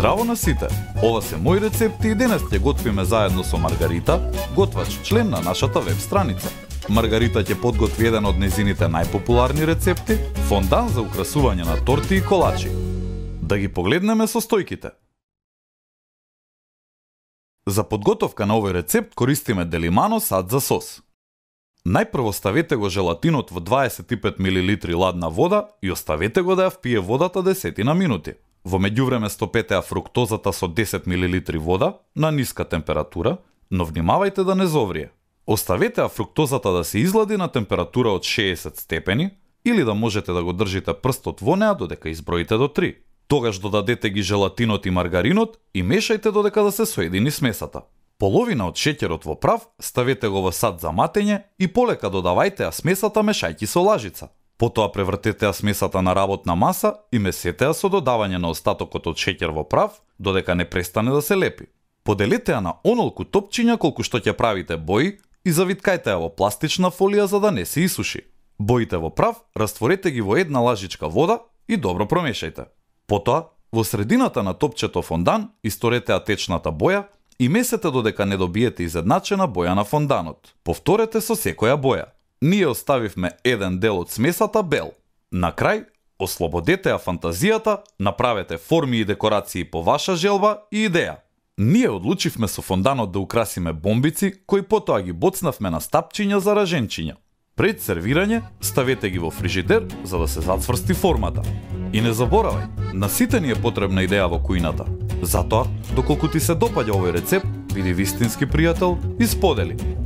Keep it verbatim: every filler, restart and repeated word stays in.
Здраво на сите! Ова се мои рецепти и денес ќе готвиме заедно со Маргарита, готвач член на нашата веб страница. Маргарита ќе подготви еден од незините најпопуларни рецепти – фондан за украсување на торти и колачи. Да ги погледнеме состојките. За подготовка на овој рецепт користиме Делимано сад за сос. Најпрво ставете го желатинот во дваесет и пет милилитри ладна вода и оставете го да ја впие водата десетина минути. Во меѓувреме стопете ја фруктозата со десет милилитри вода на ниска температура, но внимавајте да не зоврие. Оставете ја фруктозата да се излади на температура од шеесет степени или да можете да го држите прстот во неа додека изброите до три. Тогаш додадете ги желатинот и маргаринот и мешајте додека да се соедини смесата. Половина од шеќерот во прав ставете го во сад за матење и полека додавајте ја смесата мешајќи со лажица. Потоа превртете ја смесата на работна маса и месете ја со додавање на остатокот од шеќер во прав додека не престане да се лепи. Поделете ја на онолку топчиња колку што ќе правите бои и завиткајте ја во пластична фолија за да не се исуши. Боите во прав растворете ги во една лажичка вода и добро промешајте. Потоа, во средината на топчето фондан исторете ја течната боја и месете додека не добиете изедначена боја на фонданот. Повторете со секоја боја. Ние оставивме еден дел од смесата бел. На крај, ослободете ја фантазијата, направете форми и декорации по ваша желба и идеја. Ние одлучивме со фонданот да украсиме бомбици, кои потоа ги боцнавме на стапчиња за раженчиња. Пред сервирање, ставете ги во фрижидер за да се зацврсти формата. И не заборавај, на сите ни е потребна идеја во кујната. Затоа, доколку ти се допаѓа овој рецепт, биди вистински пријател и сподели.